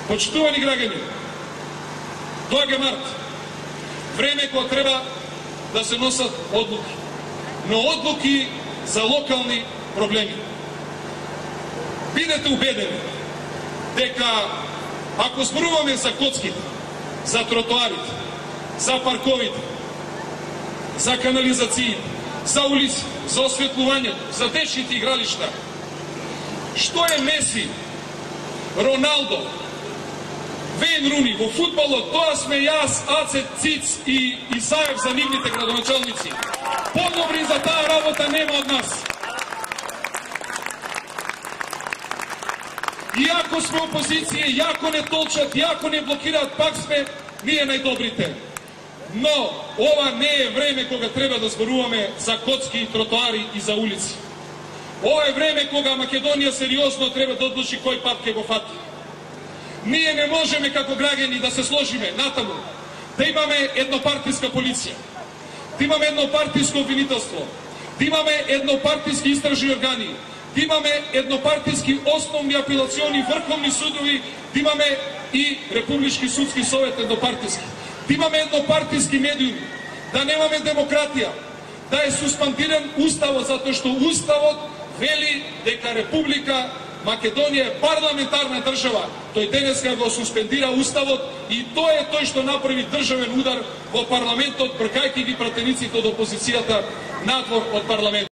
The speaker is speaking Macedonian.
Почитувани граѓани, доаѓа март, време кога треба да се носат одлуки, но одлуки за локални проблеми. Бидете убедени дека ако зборуваме за коцките, за тротоарите, за парковите, за канализациите, за улици, за осветлувањето, за дечните игралишта, што е Меси, Роналдо, Вейн Руни во фудбалот, тоа сме јас, Аце Циц и Исаев за нивните градоначалници. Подобри за таа работа нема од нас. Иако сме опозиција, иако не толчат, иако не блокираат, пак сме ние најдобрите. Но ова не е време кога треба да зборуваме за коцки и тротоари и за улици. Ова е време кога Македонија сериозно треба да одлучи кој пат ќе го фати. Ние не можеме како граѓани да се сложиме натаму, да имаме еднопартиска полиција, да имаме еднопартиско обвинителство, да имаме еднопартиски истражни органи, да имаме еднопартиски основни апелациони врховни судови, да имаме и Републички судски совет еднопартиски, да имаме еднопартиски медиуми, да немаме демократија, да е суспендиран уставот, затоа што уставот вели дека Република Македонија е парламентарна држава. Тој денеска го суспендира уставот и тоа е тој што направи државен удар во парламентот, бркајќи ги пратениците од опозицијата надвор од парламентот.